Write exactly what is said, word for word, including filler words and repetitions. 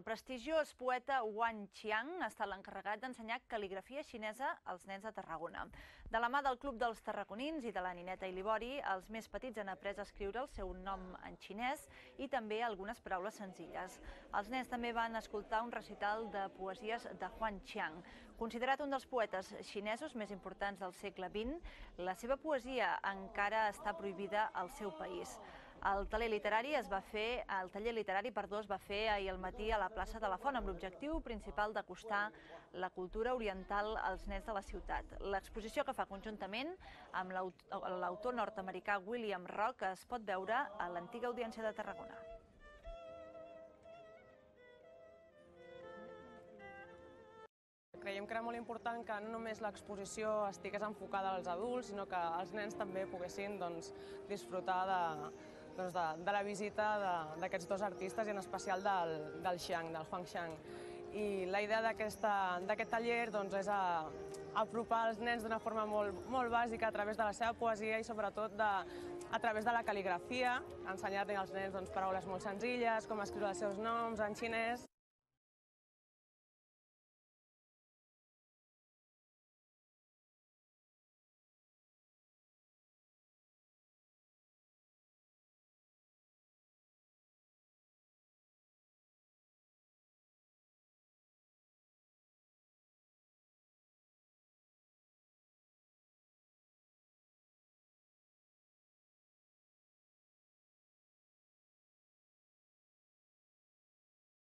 prestigiós poeta Wang Qiang ha estat l'encarregat d'ensenyar cal·ligrafia xinesa als nens de Tarragona. De la mà del Club dels Tarragonins i de la Nineta Ilibori, els més petits han après a escriure el seu nom en xinès i també algunes paraules senzilles. Els nens també van escoltar un recital de poesies de Wang Qiang. Considerat un dels poetes xinesos més importants del segle vint, la seva poesia encara està prohibida al seu país. El taller literari es va fer, el taller literari, perdó, es va fer ahir al matí a la plaça de la Font amb l'objectiu principal d'acostar la cultura oriental als nens de la ciutat. L'exposició que fa conjuntament amb l'autor nord-americà William Rock es pot veure a l'antiga Audiència de Tarragona. Creiem que era molt important que no només l'exposició estigués enfocada als adults, sinó que els nens també poguessin disfrutar de la visita d'aquests dos artistes i en especial del Qiang, del Wang Qiang. I la idea d'aquest taller és apropar els nens d'una forma molt bàsica a través de la seva poesia i sobretot a través de la cal·ligrafia, ensenyar-li als nens paraules molt senzilles, com escriure els seus noms en xinès.